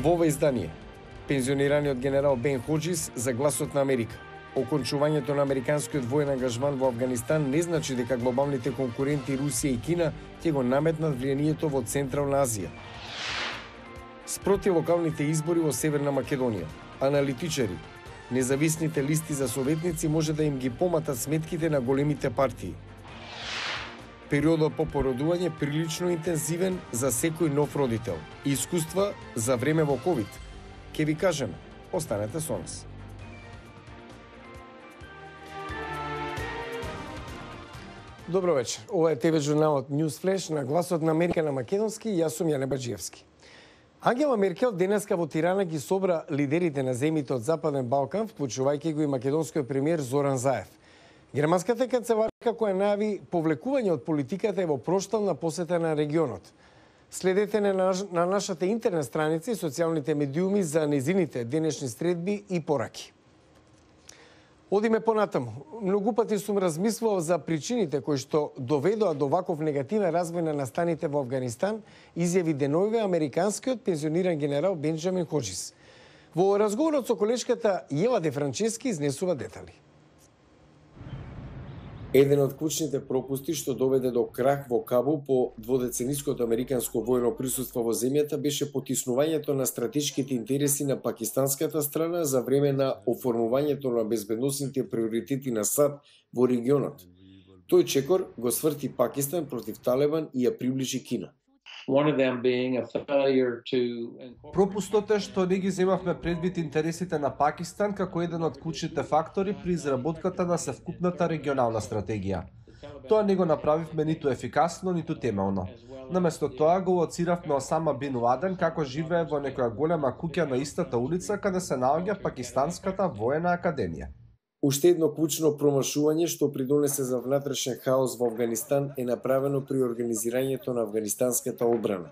Во ова издание, пензионираниот генерал Бен Хоџис за Гласот на Америка. Окончувањето на американскиот воен ангажман во Афганистан не значи дека глобалните конкуренти Русија и Кина ќе го наметнат влијанието во Централна Азија. Спроти локалните избори во Северна Македонија, аналитичари, независните листи за советници може да им ги поматат сметките на големите партии. Периодот по породување прилично интензивен за секој нов родител. Искуства за време во ковид. Ке ви кажеме, останете со нас. Добро вечер. Ова е ТВ журналот News Flash на Гласот на Америка на македонски и јас сум Јане Баџиевски. Ангела Меркел денеска во Тирана ги собра лидерите на земјите од Западен Балкан, вклучувајќи го и македонскиот премиер Зоран Заев. Германската канцеларка која најави повлекување од политиката е во проштална посета на регионот. Следете на нашата интернет страница и социјалните медиуми за незините денешни средби и пораки. Одиме понатаму. Многу пати сум размислувал за причините кои што доведоа до ваков негативен развој на настаните во Афганистан, изјави деновиве американскиот пензиониран генерал Бенџамин Хоџис. Во разговорот со колешката Јела Де Франчески изнесува детали. Еден од клучните пропусти што доведе до крах во Кабул по дводецениското американско воено присуство во земјата беше потиснувањето на стратешките интереси на пакистанската страна за време на оформувањето на безбедносните приоритети на САД во регионот. Тој чекор го сврти Пакистан против Талибан и ја приближи Кина. Пропустот е што не ги земавме предвид интересите на Пакистан како еден од клучните фактори при изработката на севкупната регионална стратегија. Тоа не го направивме ниту ефикасно, ниту темелно. Наместо тоа го лоциравме Осама Бин Ладен како живее во некоја голема куќа на истата улица каде се наоѓа Пакистанската воена академија. Уште едно клучно промашување што придонесе за внатрешен хаос во Афганистан е направено при организирањето на афганистанската одбрана.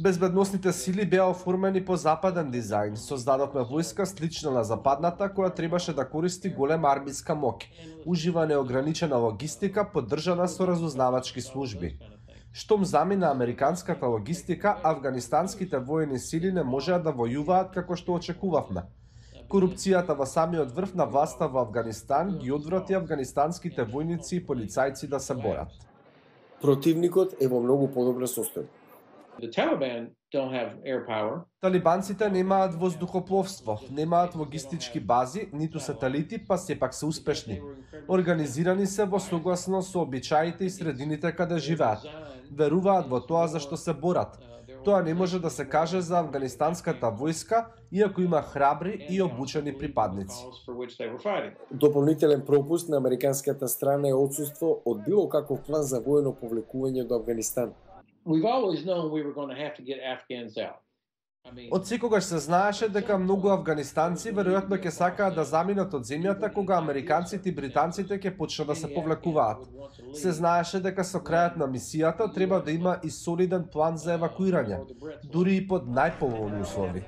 Безбедносните сили беа оформени по западен дизајн. Создадовме војска слична на западната која требаше да користи голема армиска моќ. Ужива неограничена логистика поддржана со разузнавачки служби. Штом замина американската логистика, афганистанските воени сили не можеа да војуваат како што очекувавме. Корупцијата во самиот врв на власта во Афганистан ги одврати афганистанските војници и полицајци да се борат. Противникот е во многу подобро состојба. Талибанците немаат воздухопловство, немаат логистички бази, ниту сателити, па сепак се успешни. Организирани се во согласно со обичаите и средините каде живеат. Веруваат во тоа за што се борат. Тоа не може да се каже за афганистанската војска, иако има храбри и обучени припадници. Дополнителен пропуст на американската страна е отсуство од било каков план за воено повлекување до Афганистан. Од секогаш се знаеше дека многу афганистанци веројатно ќе сакаат да заминат од земјата кога американците и британците ќе почнат да се повлекуваат. Се знаеше дека со крајот на мисијата треба да има и солиден план за евакуирање, дури и под најповолни услови.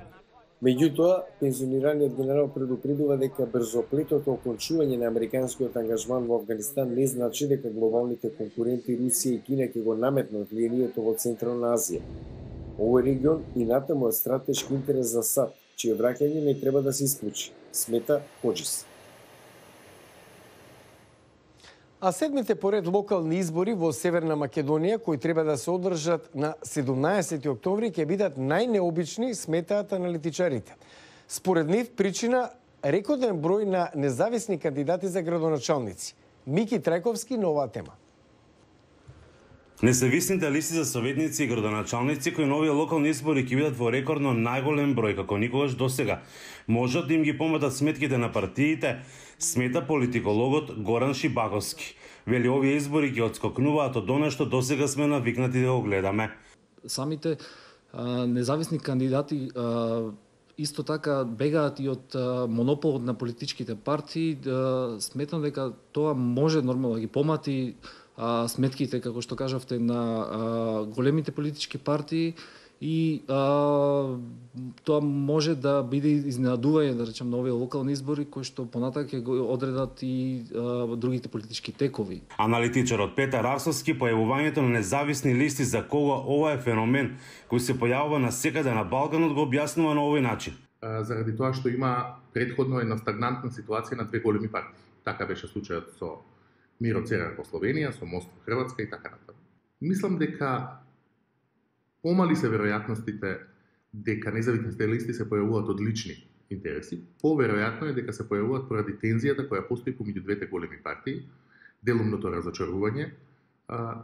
Меѓутоа, пензионираниот генерал предупредува дека брзоплетото окончување на американскиот ангажман во Афганистан не значи дека глобалните конкуренти Русија и Кина ќе го наметнат влијанието во Централна Азија. Овој регион и натаму е стратешки интерес за САД, чие враќање не треба да се исклучи, смета Хоџис. А седмите поред локални избори во Северна Македонија, кои треба да се одржат на 17 октомври, ќе бидат најнеобични, сметаат аналитичарите. Според нив причина рекорден број на независни кандидати за градоначалници. Мики Трајковски на оваа тема. Независните листи за советници и градоначалници кои на овие локални избори ќе бидат во рекордно најголем број како никогаш досега. Можат да им ги поматат сметките на партиите, смета политикологот Горан Шибаковски. Вели овие избори ги отскокнуваат од она што досега сме навикнати да го гледаме. Самите независни кандидати исто така бегаат и од монополот на политичките партии. Сметам дека тоа може нормално да ги помати сметките, како што кажавте, на големите политички партии и тоа може да биде изненадување, да речем, на овие локални избори кои што понатак ќе го одредат и другите политички текови. Аналитичарот Петар Арсовски појавувањето на независни листи за кого ова е феномен кој се појавува насекаде на Балканот го објаснува на овој начин. Заради тоа што има претходно една стагнантна ситуација на две големи партии. Така беше случајот со Миро Церар во Словенија, со Мост во Хрватска и така натаму. Мислам дека помали се веројатностите дека независните листи се појавуваат од лични интереси. Поверојатно е дека се појавуваат поради тензијата која постои помеѓу двете големи партии, делумното разочарување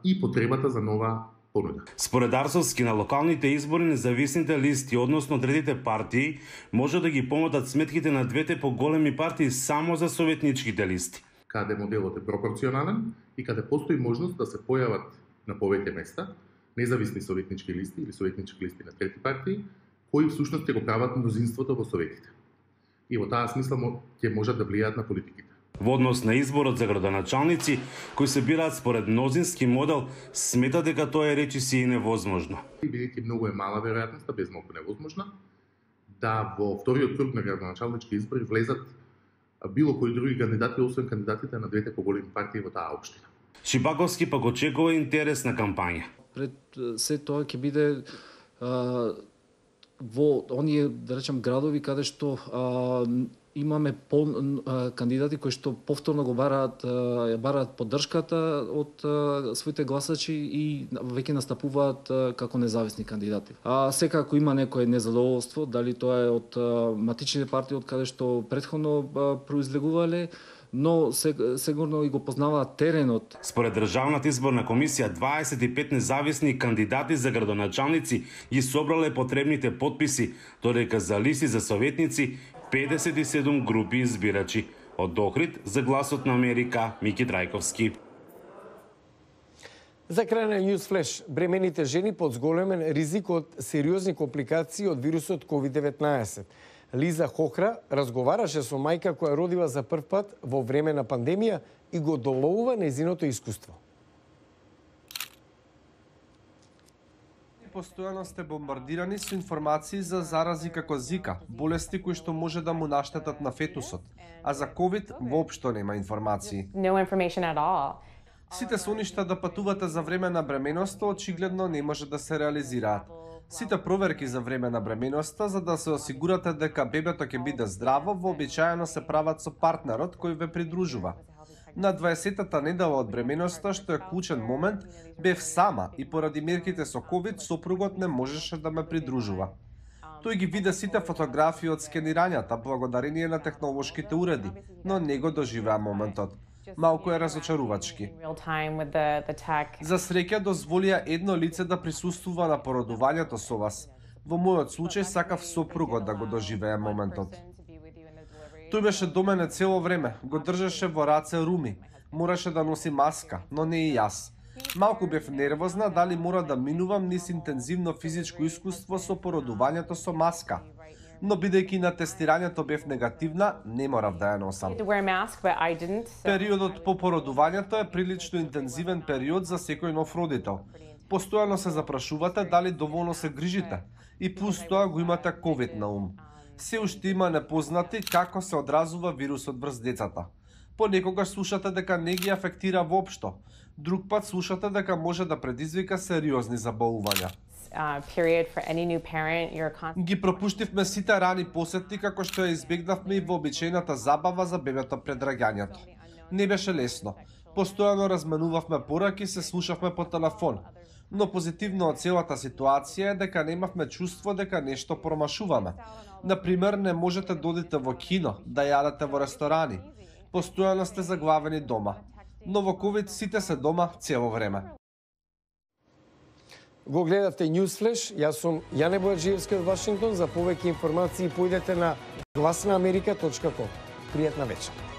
и потребата за нова понуда. Според Арсовски, на локалните избори независните листи, односно третите партии, може да ги помотат сметките на двете поголеми партии само за советничките листи. Каде моделот е пропорционален и каде постои можност да се појават на повеќе места независни советнички листи или советнички листи на трети партии, кои всушност ќе го прават мнозинството во советите. И во таа смисла ќе можат да влијаат на политиките. Во однос на изборот за градоначалници, кои се бираат според мнозински модел, смета дека тоа е речиси и невозможно. Бидејќи многу е мала веројатноста, без малку невозможна, да во вториот круг на градоначалнички избори влезат било кои други кандидати, освен кандидатите на двете поголеми партии во таа општина. Шипаковски пак очекува интересна кампања. Пред се тоа ќе биде во оние, да речем, градови каде што имаме кандидати кои што повторно го бараат поддршката од своите гласачи и веќе настапуваат како независни кандидати. Секако има некое незадоволство, дали тоа е од матичните партии од каде што претходно произлегувале, но сигурно и го познаваат теренот. Според Државната изборна комисија, 25 независни кандидати за градоначалници ги собрале потребните потписи, додека за листи за советници 57 групи избирачи. Од Охрид за Гласот на Америка, Мики Трајковски. За крај на Newsflash, бремените жени под зголемен ризик од сериозни компликации од вирусот COVID-19. Лиза Хохра разговараше со мајка која родила за прв пат во време на пандемија и го доловува нејзиното искуство. Постојано сте бомбардирани со информации за зарази како Зика, болести кои што може да му наштетат на фетусот, а за COVID воопшто нема информации. No information at all. Сите соништа да патувате за време на бременоста очигледно не може да се реализираат. Сите проверки за време на бременоста за да се осигурате дека бебето ќе биде здраво, вообичаено се прават со партнерот кој ве придружува. На 20-та недела од бременоста, што е клучен момент, бев сама и поради мерките со COVID, сопругот не можеше да ме придружува. Тој ги виде сите фотографии од скенирањата благодарение на технолошките уреди, но не го доживеа моментот. Малку е разочарувачки. За среќа дозволија едно лице да присуствува на породувањето со вас. Во мојот случај сакав сопругот да го доживее моментот. Тој беше до мене цело време, го држеше во раце руми. Мораше да носи маска, но не и јас. Малку бев нервозна дали мора да минувам низ интензивно физичко искуство со породувањето со маска. Но бидејќи на тестирањето бев негативна, не морав да ја носам. Периодот по породувањето е прилично интензивен период за секој нов родител. Постојано се запрашувате дали доволно се грижите и плюс тоа го имате COVID на ум. Се уште има непознати како се одразува вирусот врз децата. Понекогаш слушате дека не ги афектира воопшто, друг пат слушате дека може да предизвика сериозни заболувања. Ги пропуштивме сите рани посети како што ја избегнавме и вообичаената забава за бебето пред раѓањето. Не беше лесно. Постојано разменувавме пораки, се слушавме по телефон. Но позитивно од целата ситуација е дека немавме чувство дека нешто промашуваме. Например, не можете да одите во кино, да јадете во ресторани. Постојано сте заглавени дома. Но во COVID сите се дома цело време. Го гледавте Newsflash, јас сум Јане Бојаджиевски од Вашингтон. За повеќе информации појдете на гласнаамерика.com. Пријатна вечер.